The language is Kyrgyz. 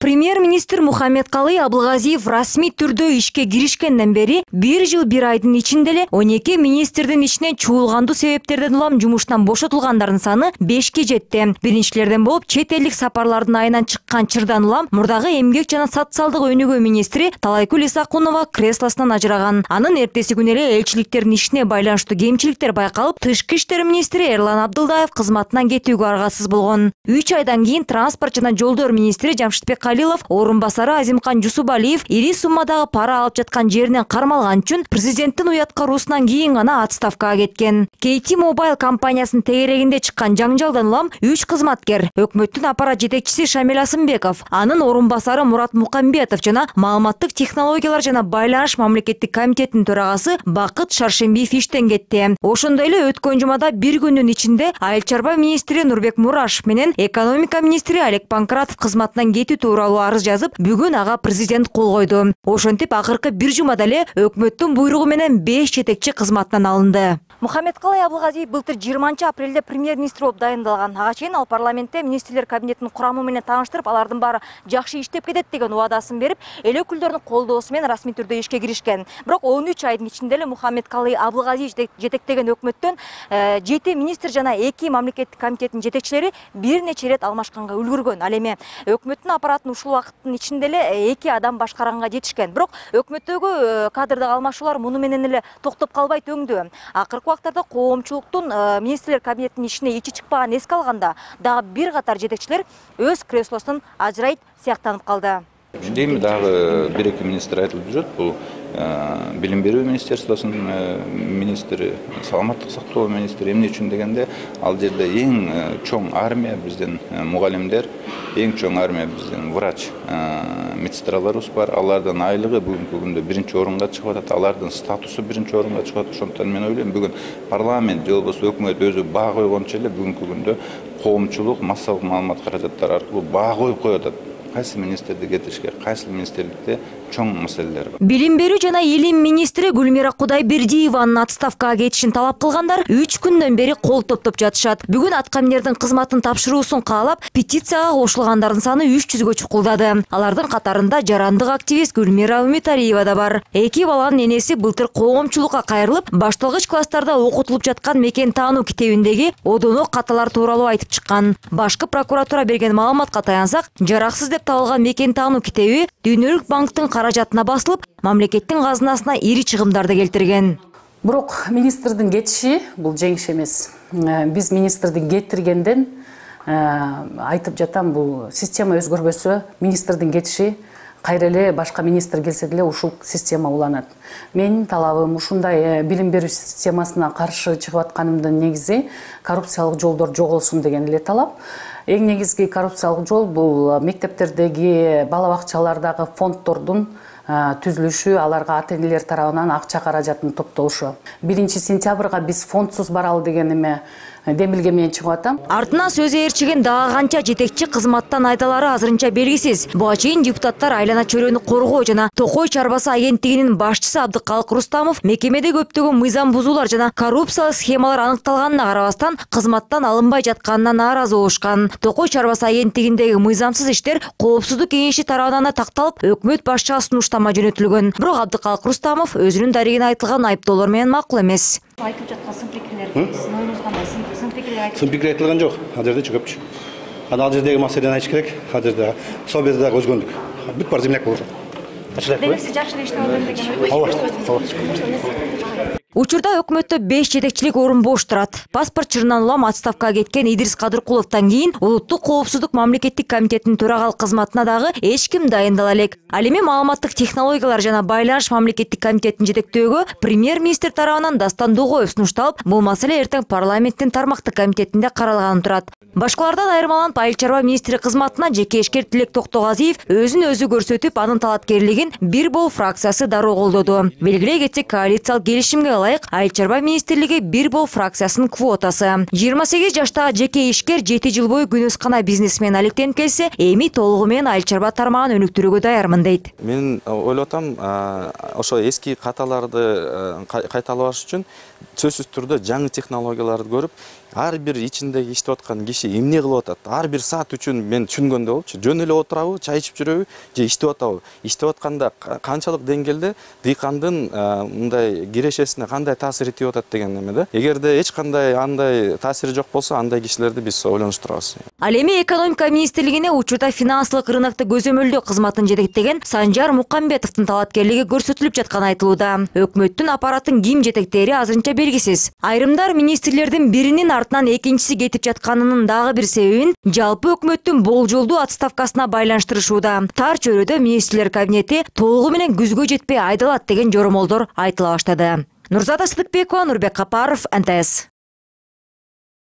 Премьер-министр Мухаммедкалый Абылгазиев расмий түрдө ишке киришкенден бери 1 жыл 1 айдын ичинде эле 12 министрдин ичинен чуулгандуу себептерден улам жумуштан бошотулгандардын саны 5ке жетти. Биринчилерден болуп чет элдик сапарлардын айынан чыккан чырдан улам мурдагы эмгек жана социалдык өнүгүү министри Талайкүл Исакунова креслосунан ажыраган. Анын эртеси күнү эле элчиликтердин ишине байланыштуу кемчиликтер байкалып, Тышкы иштер министри Эрлан Абдылдаев кызматынан кетүүгө аргасыз болгон. 3 айдан кийин транспорт жана жолдор министри Жамшитбек Калилов, орун басары Азимкан Жусубалиев ири суммадагы пара алып жаткан жеринен кармалган үчүн президенттин уяткаруусунан кийин гана отставкага кеткен. KT Mobile компаниясынын тегерегинде чыккан жаңжалдан улам 3 кызматкер, өкмөттүн аппарат жетекчиси Шамил Асымбеков, анын орун басары Мурат Мукамбетов жана маалыматтык технологиялар жана байланыш мамлекеттик комитетинин төрагасы Бакыт Шаршембиев иштен кетти. Ошондой эле өткөн жумада бир күндүн ичинде айыл чарба министри Нурбек Мурашев менен экономика министри Олег Панкратов кызматтан кетүү тууралуу арыз жазып, бүгүн ага президент кол койду. Ошентип акыркы бир жумада эле өкмөттүн буйругу менен 5 жетекчи кызматтан алынды. Мухаммедкалый Абылгазиев былтыр 20 апрелде премьер-министр болуп дайындалган. Ага чейин ал парламентте министрлер кабинетинин курамы менен тааныштырып, алардын баары жакшы иштеп кетет деген убадасын берип, эл өкүлдөрүнүн колдоосу менен расмий түрдө ишке киришкен. Бирок 13 айдын ичинде эле Мухаммедкалый Абылгазиев жетектеген өкмөттөн 7 министр жана 2 мамлекеттик комитеттин жетекчилери бир нече ирет алмашканга үлгүргөн. Ал эми өкмөттүн аппаратын ушул убакыттын ичинде эле 2 адам башкаранга жетишкен. Бирок өкмөттөгү кадрдык алмашуулар муну менен эле токтоп калбайт өңдүү. Акыркы убактарда коомчулуктун министрлер кабинетинин ишине ичи чыкпаган эске алганда, дагы бир катар жетекчилер өз креслосунан ажырайт сыяктанып калды. Дейм дагы 1-2 министр айтылып жүрөт. Бул билим берүү министерствосунун министри, саламаттык сактоо министри. Эмне үчүн дегенде, ал жерде эң чоң армия биздин мугалимдер, эң чоң армия биздин врач медсестраларыбыз бар. Алардын айлыгы бүгүнкү күндө 1-чи орунга чыгып атат. Алардын статусу 1-чи орунга чыгып атат. Ошондуктан мен ойлойм, бүгүн парламент же болбосо өкмөт өзү баа койгончо эле бүгүнкү күндө коомчулук массалык маалымат каражаттары аркылуу баа коюп коюп атат. Кайсы министрди кетиришке, кайсы министрликте чоң маселелер бар. Билим берүү жана илим министри Гүлмира Кудайбердиеванын отставкага кетишин талап кылгандар 3 күндөн бери кол топтоп жатышат. Бүгүн аткаминердин кызматын тапшыруусун каалап, петицияга кошулгандардын саны 300гө чукулдады. Алардын катарында жарандык активист Гүлмира Үмүталиева да бар. 2 баланын энеси былтыр коомчулукка кайрылып, башталгыч класстарда окутулуп жаткан мекен таануу китебиндеги одонок каталар тууралуу айтып чыккан. Башкы прокуратура берген маалыматка таянсак, жараксыз деп табылган мекен таануу китеби Дүйнөлүк банктын каражатына басылып, мамлекеттин казынасына ири чыгымдарды келтирген. Бирок министрдин кетиши бул жеңиш эмес. Биз министрдин кетиргенден айтып жатам, бул система өзгөрбөсө, министрдин кетиши кайра эле башка министр келсе деле ушул система уланат. Менин талабым ушундай билим берүү системасына каршы чыгып атканымдын негизи коррупциялык жолдор жоголсун деген эле талап. Эң негизги коррупциялык жол бул мектептердеги, бала бакчалардагы фонддордун түзүлүшү, аларга ата-энелер тарабынан акча каражатын топтолушу. 1-сентябрга биз фондсуз баралы деген эме демилге менен чыгып атам. Артынан сөз ээрчиген дагы канча жетекчи кызматтан айдалары азырынча белгисиз. Буга чейин депутаттар айлана чөйрөнү коргоо жана Токой чарбасы агенттигинин башчысы Абдыкалык Рустамов мекемеде көптөгөн мыйзам бузуулар жана коррупциялык схемалар аныкталганына карабастан кызматтан алынбай жатканына нааразы болушкан. Токой чарбасы агенттигиндеги мыйзамсыз иштер коопсуздук кеңеши тарабынан такталып, өкмөт башчыга сунуштама жөнөтүлгөн. Бирок Абдыкалык Рустамов өзүнүн дарегине айтылган айыптоолор менен макул эмес. Айтып жаткан сын пикирлер, сиздин оюңуз кандай? Сын пикир айтылган жок. Ал жерде көпчү. Ал жердеги маселени айтыш керек. Ал жерде собезде дагы өзгөндүк. Бүт бар земляк болот. Демек сиз жакшы иштеп атат деген. Учурда өкмөттө 5 жетекчилик орун бош турат. Паспорт чырынан улам отставкага кеткен Идирис Кадыркуловдон кийин улуттук коопсуздук мамлекеттик комитетинин төрагалык кызматына дагы эч ким дайындала элек. Ал эми маалыматтык технологиялар жана байланыш мамлекеттик комитетин жетектөөгө премьер-министр тарабынан Дастан Дугоев сунушталып, бул маселе эртең парламенттин тармактык комитетинде каралганы турат. Башкалардан айырмаланып, айыл чарба министри кызматына жеке ишкер Тилек Токтогазиев өзүн өзү көрсөтүп, анын талапкерлигин Бир Бол фракциясы дароо колдоду. Белгилей кетсек, коалициялык келишимге ылайык айыл чарба министрлиги Бир Бол фракциясынын квотасы. 28 жаштагы жеке ишкер 7 жыл бою күнөскана бизнесмен алектенип келсе, эми толугу менен айыл чарба тармагын өнүктүрүүгө даярмын дейт. Мен ойлоп атам, ошо эски каталарды кайталабаш үчүн сөзсүз түрдө жаңы технологияларды көрүп, ар бир ичиндеги иштеп аткан киши эмне кылып атат, ар бир саат үчүн мен түшүнгөндөй болчу. Жөн эле отурабы, чай ичип жүрөбү же иштеп атабы? Иштеп атканда канчалык деңгээлде дыйкандын мындай кирешесине кандай таасир этип атат деген эмеде. Эгерде эч кандай андай таасири жок болсо, андай кишилерди биз ойлонуштурабыз. Ал эми экономика министрлигине учурда финансылык рынокто көзөмөлдөө кызматын жетектеген Санжар Мукамбетовдун талапкерлиги көрсөтүлүп жатканы айтылууда. Өкмөттүн аппараттын ким жетектери азырынча белгисиз. Айрымдар министрлердин биринин артынан экинчиси кетип жатканынын дагы бир себебин жалпы өкмөттүн болжолдуу отставкасына байланыштырышууда. Тар чөйрөдө министрлер кабинети толугу менен күзгө жетпей айдалат деген жоромолдор айтыла баштады. Нурзада Сыдыкбекова, Нурбек Капаров, НТС.